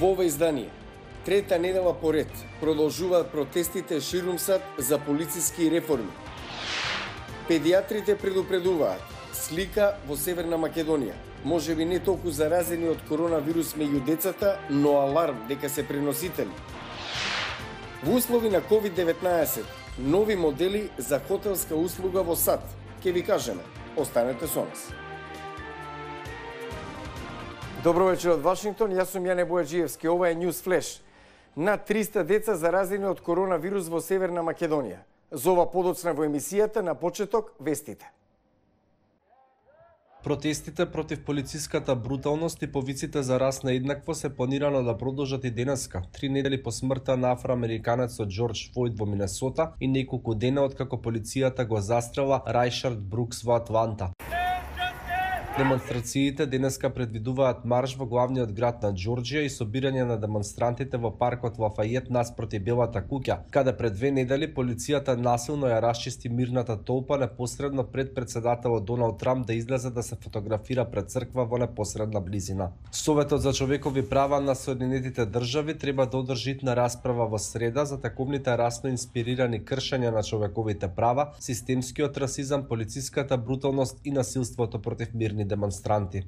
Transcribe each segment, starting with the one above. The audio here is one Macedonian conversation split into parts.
Во ова издание, трета недела поред, продолжуваат протестите ширум сад за полициски реформи. Педиатрите предупредуваат слика во Северна Македонија. Можеби не толку заразени од коронавирус меѓу децата, но аларм дека се преносители. Во услови на COVID-19, нови модели за хотелска услуга во САД. Ке ви кажеме, останете со нас. Добро вечер од Вашингтон, јас сум Јане Бојаджиевски, ова е News Flash. Над 300 деца заразени од коронавирус во Северна Македонија. За ова подоцна во емисијата, на почеток вестите. Протестите против полициската бруталност и повиците за расна еднаквост се планирано да продолжат и денеска, 3 недели по смртта на афроамериканецот Џорџ Флојд во Минесота и неколку дена откако полицијата го застрела Рајшард Брукс во Атланта. Демонстрациите денеска предвидуваат марш во главниот град на Џорџија и собирање на демонстрантите во паркот Лафајет наспроти Белата куќа, каде пред 2 недели полицијата насилно ја расчисти мирната толпа непосредно пред председателот Доналд Трамп да излезе да се фотографира пред црква во непосредна близина. Советот за човекови права на Соединетите држави треба да одржи на расправа во среда за таковните расно инспирирани кршења на човековите права, системскиот расизам, полициската бруталност и насилството против мирни демонстранти.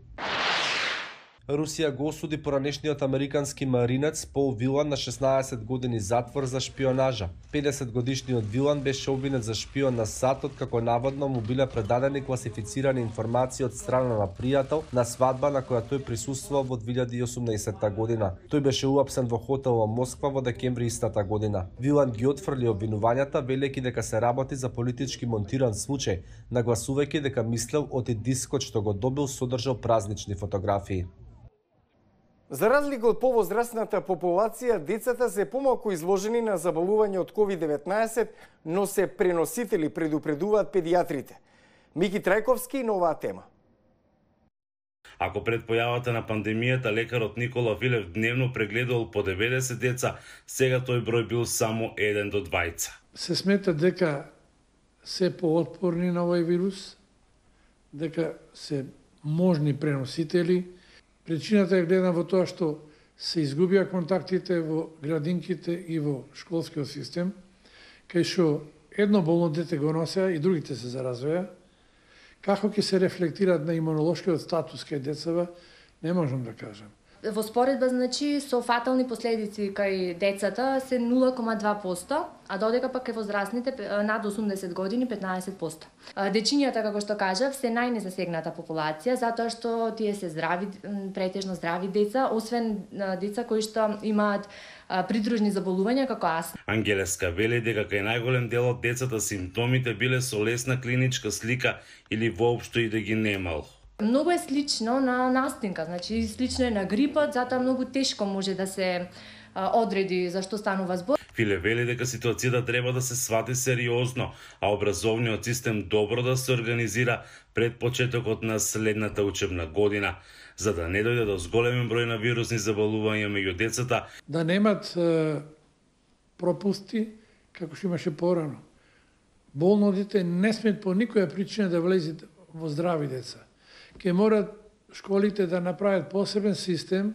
Русија го осуди поранешниот американски маринец Пол Вилан на 16 години затвор за шпионажа. 50-годишниот Вилан беше обвинет за шпион на САД откако наводно му биле предадени класифицирани информации од страна на пријател на свадба на која тој присуствувал во 2018 година. Тој беше уапсен во хотел во Москва во декември истата година. Вилан ги отфрли обвинувањата, велејќи дека се работи за политички монтиран случај, нагласувајќи дека мислел оти дискот што го добил содржал празнични фотографии. За разлика од повозрастната популација, децата се помалку изложени на заболување од COVID-19, но се преносители, предупредуваат педиатрите. Мики Трајковски на оваа тема. Ако пред појавата на пандемијата лекарот Никола Филев дневно прегледувал по 90 деца, сега тој број бил само 1 до 2. Се смета дека се поотпорни на овој вирус, дека се можни преносители. Причината е гледана во тоа што се изгубија контактите во градинките и во школскиот систем, кај што едно болно дете го носеа и другите се заразуваа. Како ќе се рефлектираат на имунолошкиот статус кај децава, не можам да кажам. Во споредба, значи, со фатални последици кај децата се 0,2%, а додека пак кај возрастните над 80 години 15%. Дечињата, како што кажав, се најнезасегната популација, затоа што тие се здрави, претежно здрави деца, освен деца кои што имаат придружни заболувања како астма. Ангелеска вели дека кај најголем дел од децата симптомите биле со лесна клиничка слика или воопшто и да ги немал. Многу е слично на настинка, значи слично е на грипот, затоа многу тешко може да се одреди за што станува збор. Филе вели дека ситуацијата треба да се свати сериозно, а образовниот систем добро да се организира пред почетокот на следната учебна година, за да не дојде до зголемен број на вирусни заболувања меѓу децата. Да немат пропусти, како што имаше порано. Болно дете не смет по никоја причина да влезе во здрави деца. Ке морат школите да направат посебен систем,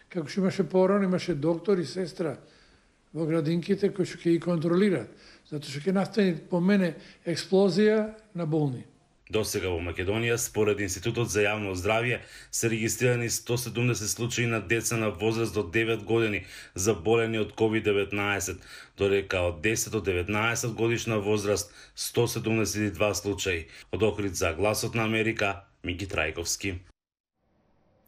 како што имаше порано, имаше доктор и сестра во градинките кои што ќе ги контролираат, затоа што ќе настане по мене експлозија на болни. Досега во Македонија, според Институтот за јавно здравје, се регистрирани 170 случаи на деца на возраст до 9 години заболени од COVID-19, додека од 10 до 19 годишна возраст 172 случаи. Од Охрид за Гласот на Америка, Мики Трајковски.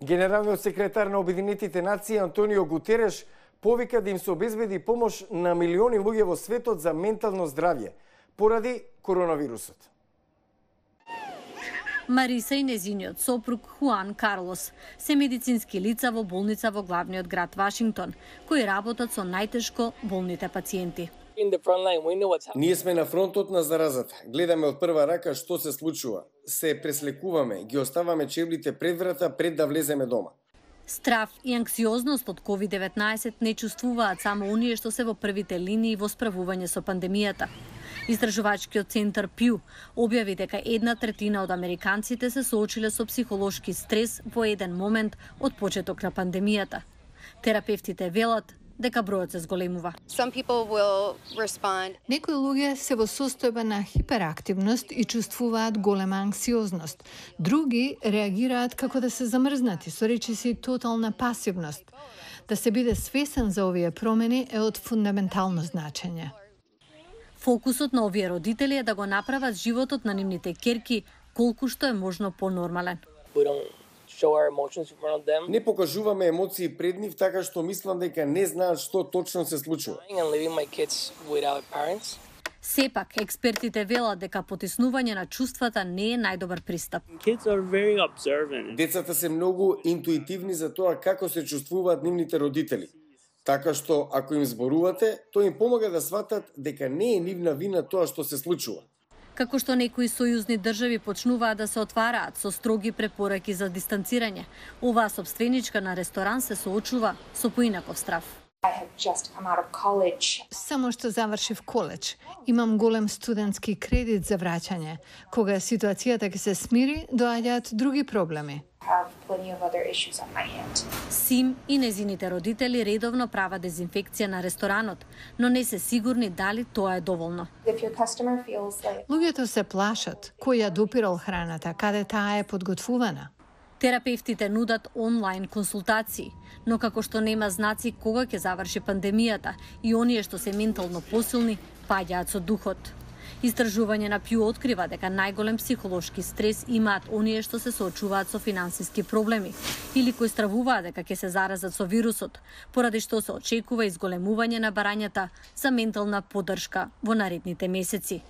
Генералниот секретар на Обединетите нации Антонио Гутереш повика да им се обезбеди помош на милиони луѓе во светот за ментално здравје поради коронавирусот. Мариса и незиниот сопруг Хуан Карлос се медицински лица во болница во главниот град Вашингтон, кои работат со најтешко болните пациенти. Ние сме на фронтот на заразата. Гледаме од прва рака што се случува. Се преслекуваме, ги оставаме чевлите пред врата пред да влеземе дома. Страв и анксиозност од COVID-19 не чувствуваат само оние што се во првите линии во справување со пандемијата. Истражувачкиот центар Пју објави дека 1/3 од американците се соочиле со психолошки стрес во еден момент од почеток на пандемијата. Терапевтите велат дека бројот се зголемува. Некои луѓе се во состојба на хиперактивност и чувствуваат голема анксиозност. Други реагираат како да се замрзнати, со речиси тотална пасивност. Да се биде свесен за овие промени е од фундаментално значење. Фокусот на овие родители е да го направат животот на нивните ќерки колку што е можно понормален. Не покажуваме емоции пред нив, така што мислам дека не знаат што точно се случува. Сепак, експертите велат дека потиснување на чувствата не е најдобар пристап. Децата се многу интуитивни за тоа како се чувствуваат нивните родители. Така што, ако им зборувате, тоа им помага да сватат дека не е нивна вина тоа што се случува. Како што некои сојузни држави почнуваат да се отвараат со строги препораки за дистанцирање, оваа собственичка на ресторан се соочува со поинаков страв. Само што завршив коледж, имам голем студентски кредит за враќање. Кога ситуацијата ќе се смири, доаѓаат други проблеми. Сим и незините родители редовно прават дезинфекција на ресторанот, но не се сигурни дали тоа е доволно. Луѓето се плашат кој ја допирал храната, каде таа е подготвувана. Терапевтите нудат онлайн консултации, но како што нема знаци кога ќе заврши пандемијата и оние што се ментално посилни паѓаат со духот. Истражување на Пју открива дека најголем психолошки стрес имаат оние што се соочуваат со финансиски проблеми или кои стравуваат дека ќе се заразат со вирусот, поради што се очекува изголемување на барањата за ментална поддршка во наредните месеци.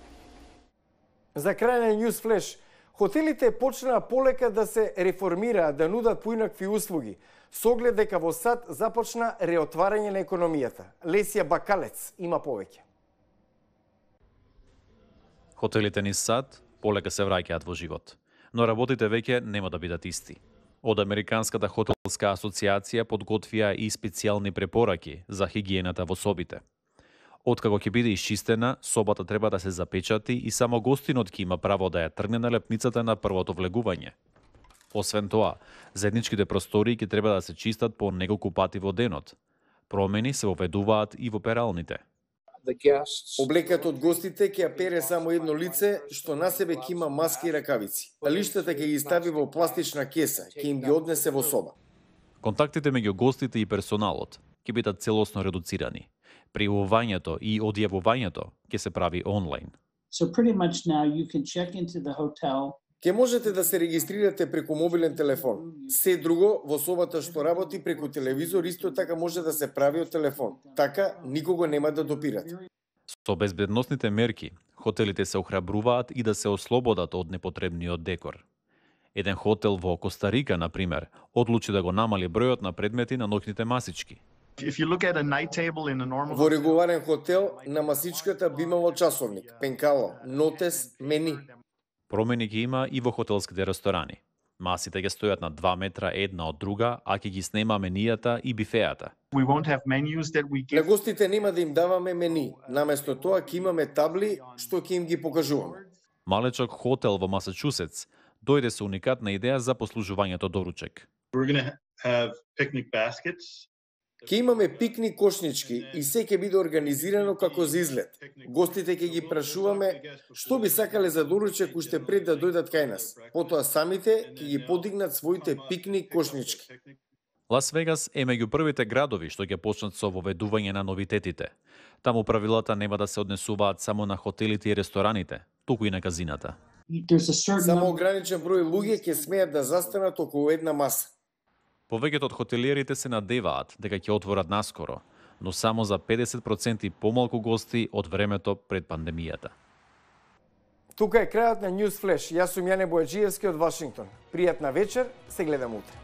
За крај на News Flash, хотелите почнаа полека да се реформираат, да нудат поинакви услуги, со оглед дека во САД започна реотварање на економијата. Лесија Бакалец има повеќе. Хотелите низ САД полека се враќаат во живот, но работите веќе нема да бидат исти. Од Американската хотелска асоциација подготвија и специјални препораки за хигиената во собите. Откако ќе биде исчистена, собата треба да се запечати и само гостинот ќе има право да ја тргне на лепницата на првото влегување. Освен тоа, заедничките простории ќе треба да се чистат по неколку пати во денот. Промени се воведуваат и во пералните. Облеката од гостите ќе ја пере само едно лице, што на себе ќе има маски и ракавици. А лиштата ќе ги стави во пластична кеса, ќе им ги однесе во соба. Контактите меѓу гостите и персоналот ќе бидат целосно редуцирани. Пријавувањето и одјавувањето ќе се прави онлайн. Ќе можете да се регистрирате преку мобилен телефон. Се друго во собата што работи преку телевизор исто така може да се прави од телефон. Така никого нема да допирате. Со безбедносните мерки, хотелите се охрабруваат и да се ослободат од непотребниот декор. Еден хотел во Коста Рика, например, одлучи да го намали бројот на предмети на ноќните масички. Во регуларен хотел на масичката би имало часовник, пенкало, нотес, мени. Промени ги има и во хотелските ресторани. Масите ќе стојат на 2 метра една од друга, а ќе ги снема менијата и бифеата. На гостите нема да им даваме мени, наместо тоа ќе имаме табли што ќе им ги покажуваме. Малечок хотел во Масачусетс дојде со уникатна идеја за послужувањето доручек. Ќе имаме пикник кошнички и се ќе биде организирано како за излет. Гостите ќе ги прашуваме што би сакале за доручек уште пред да дојдат кај нас. Потоа самите ќе ги подигнат своите пикник кошнички. Лас Вегас е меѓу првите градови што ќе почнат со воведување на новитетите. Таму правилата нема да се однесуваат само на хотелите и рестораните, туку и на казината. Само ограничен број луѓе ќе смеат да застанат околу една маса. Повеќето од хотелиерите се надеваат дека ќе отворат наскоро, но само за 50% помалку гости од времето пред пандемијата. Тука е крајот на News Flash. Јас сум Јане Бојаджиевски од Вашингтон. Пријатна вечер, се гледам утре.